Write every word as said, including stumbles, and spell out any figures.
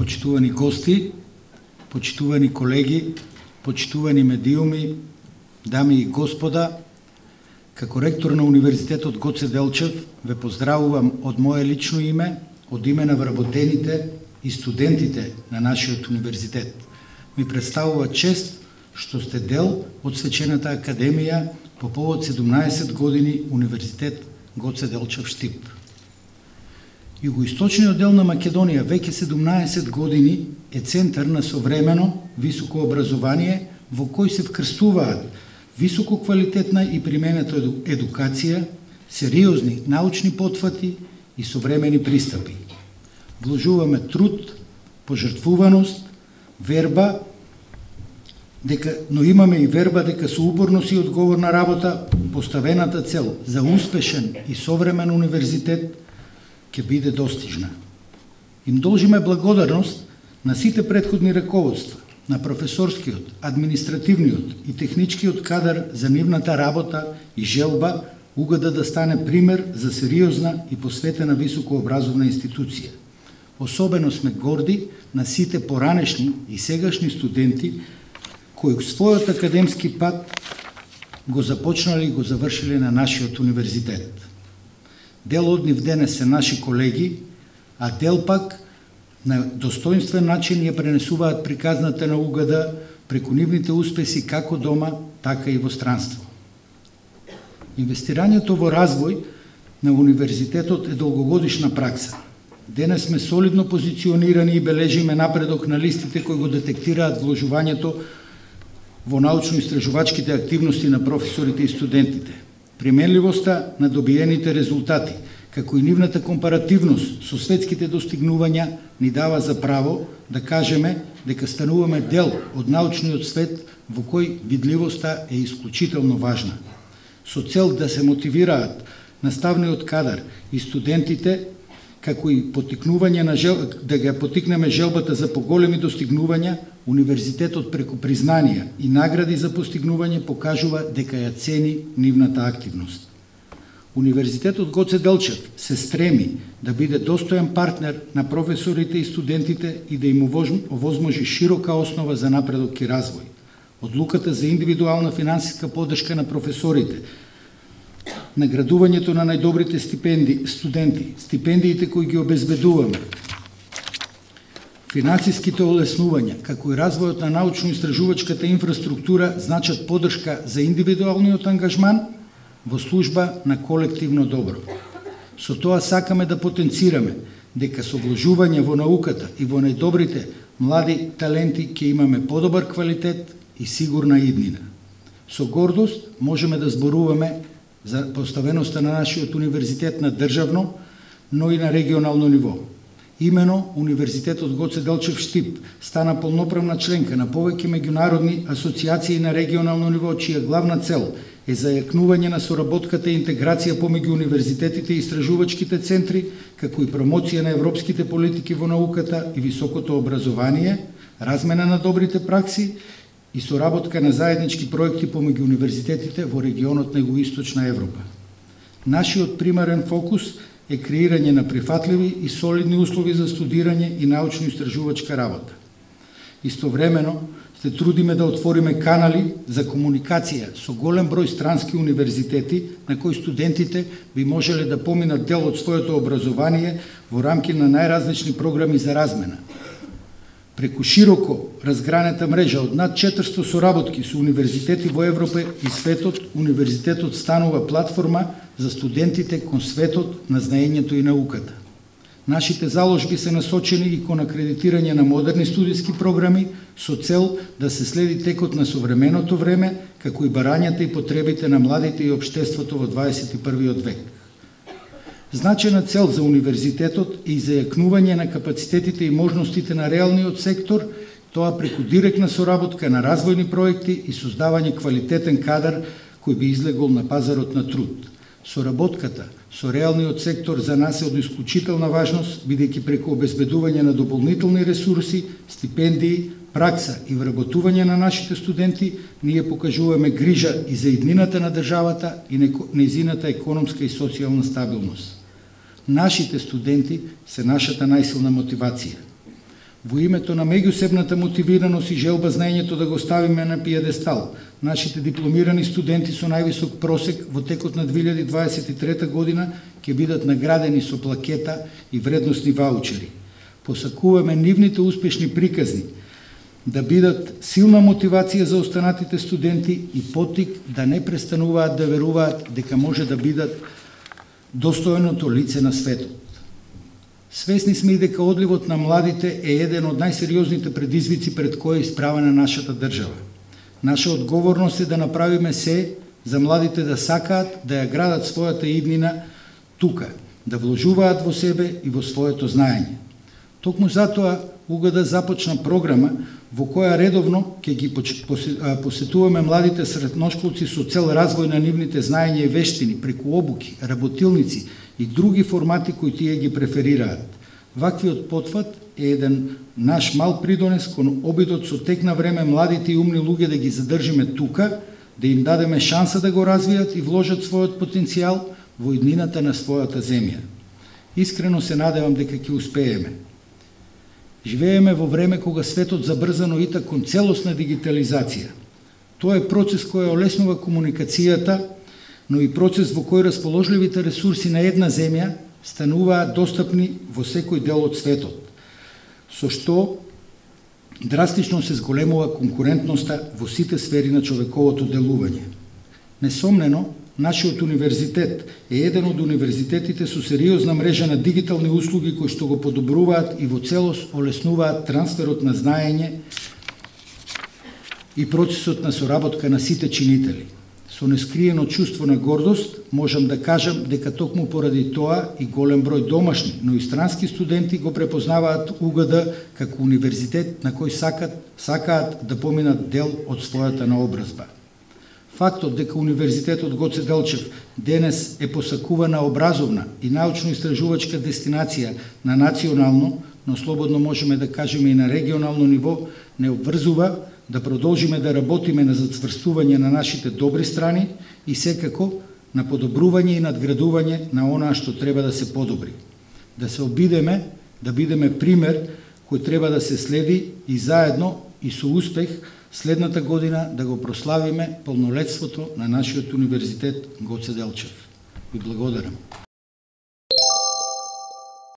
почитувани гости, почитувани колеги, почитувани медиуми, дами и господа, како ректор на Универзитетот Гоце Делчев ве поздравувам од мое лично име, од име на вработените и студентите на нашиот универзитет. Ми представува чест што сте дел од свечената академија по повод седумнаесет години Универзитет Гоце Делчев Штип. Југоисточниот дел на Македонија веќе седумнаесет години е центар на современо високо образование во кој се вкрстуваат високо квалитетна и применета едукација, сериозни научни потфати и современи пристапи. Вложуваме труд, пожртвуваност, верба, дека, но имаме и верба дека со упорност и одговорна работа поставената цел за успешен и современ универзитет ќе биде достижна. Им должиме благодарност на сите претходни раководства, на професорскиот, административниот и техничкиот кадар за нивната работа и желба угода да стане пример за сериозна и посветена високообразовна институција. Особено сме горди на сите поранешни и сегашни студенти кои својот академски пат го започнали и го завршиле на нашиот универзитет. Дел од нив денес се наши колеги, а дел пак на достоинствен начин ја пренесуваат приказната на угода преку нивните успеси како дома, така и во странство. Инвестирањето во развој на универзитетот е долгогодишна пракса. Денес сме солидно позиционирани и бележиме напредок на листите кои го детектираат вложувањето во научно-истражувачките активности на професорите и студентите. Применливоста на добиените резултати, како и нивната компаративност со светските достигнувања ни дава за право да кажеме дека стануваме дел од научниот свет во кој видливоста е исклучително важна. Со цел да се мотивираат наставниот кадар и студентите, како и потикнување на жел... да ги потикнеме желбата за поголеми достигнувања, универзитетот преку признанија и награди за постигнување покажува дека ја цени нивната активност. Универзитетот Гоце Делчев се стреми да биде достоен партнер на професорите и студентите и да им овозможи широка основа за напредок и развој. Одлуката за индивидуална финансиска поддршка на професорите, наградувањето на најдобрите стипенди, студенти, стипендиите кои ги обезбедуваме, финансиските олеснувања, како и развојот на научно-истражувачката инфраструктура значат поддршка за индивидуалниот ангажман во служба на колективно добро. Со тоа сакаме да потенцираме дека со вложување во науката и во најдобрите млади таленти ќе имаме подобар квалитет и сигурна иднина. Со гордост можеме да зборуваме за поставеноста на нашиот универзитет на државно, но и на регионално ниво. Имено, Универзитетот Гоце Делчев Штип стана полноправна членка на повеќе меѓународни асоциации на регионално ниво, чија главна цел е зајакнување на соработката и интеграција помеѓу универзитетите и истражувачките центри, како и промоција на европските политики во науката и високото образование, размена на добрите пракси и соработка на заеднички проекти помеѓу универзитетите во регионот на Југоисточна Европа. Нашиот примарен фокус е креирање на прифатливи и солидни услови за студирање и научно-истражувачка работа. Истовремено, се трудиме да отвориме канали за комуникација со голем број странски универзитети на кои студентите би можеле да поминат дел од своето образование во рамки на најразлични програми за размена. Преку широко разгранета мрежа од над четиристо соработки со универзитети во Европа и светот, универзитетот станува платформа за студентите кон светот на знаењето и науката. Нашите заложби се насочени и кон акредитирање на модерни студиски програми со цел да се следи текот на современото време, како и барањата и потребите на младите и општеството во дваесет и првиот век. Значена цел за универзитетот е и зајакнување на капацитетите и можностите на реалниот сектор, тоа преку директна соработка на развојни проекти и создавање квалитетен кадар кој би излегол на пазарот на труд. Соработката со реалниот сектор за нас е од исклучителна важност, бидејќи преку обезбедување на дополнителни ресурси, стипендии, пракса и вработување на нашите студенти, ние покажуваме грижа и за иднината на државата и нејзината економска и социјална стабилност. Нашите студенти се нашата најсилна мотивација. Во името на меѓусебната мотивираност и желба знаењето да го ставиме на пиедестал, нашите дипломирани студенти со највисок просек во текот на две илјади дваесет и трета година ќе бидат наградени со плакета и вредносни ваучери. Посакуваме нивните успешни приказни да бидат силна мотивација за останатите студенти и поттик да не престануваат да веруваат дека може да бидат достојното лице на светот. Свесни сме и дека одливот на младите е еден од најсериозните предизвици пред кои е исправена нашата држава. Наша одговорност е да направиме се за младите да сакаат да ја градат својата иднина тука, да вложуваат во себе и во своето знаење. Токму затоа УГД започна програма во која редовно ќе ги посетуваме младите средношколци со цел развој на нивните знаења и вештини преку обуки, работилници и други формати кои тие ги преферираат. Ваквиот потфат е еден наш мал придонес кон обидот со тек на време младите и умни луѓе да ги задржиме тука, да им дадеме шанса да го развијат и вложат својот потенцијал во иднината на својата земја. Искрено се надевам дека ќе успееме. Живееме во време кога светот забрзано ита кон целосна дигитализација. Тоа е процес кој олеснува комуникацијата, но и процес во кој расположливите ресурси на една земја стануваат достапни во секој дел од светот, со што драстично се зголемува конкурентноста во сите сфери на човековото делување. Несомнено, нашиот универзитет е еден од универзитетите со сериозна мрежа на дигитални услуги кои што го подобруваат и во целост олеснуваат трансферот на знаење и процесот на соработка на сите чинители. Со нескриено чувство на гордост можам да кажам дека токму поради тоа и голем број домашни, но и странски студенти го препознаваат УГД како универзитет на кој сакат, сакаат да поминат дел од својата наобразба. Фактот дека Универзитетот Гоце Делчев денес е посакувана образовна и научно-истражувачка дестинација на национално, но слободно можеме да кажеме и на регионално ниво, не обврзува да продолжиме да работиме на зацврстување на нашите добри страни и секако на подобрување и надградување на онаа што треба да се подобри. Да се обидеме, да бидеме пример кој треба да се следи и заедно и со успех следната година да го прославиме полнолетството на нашиот универзитет Гоце Делчев. Ви благодарам.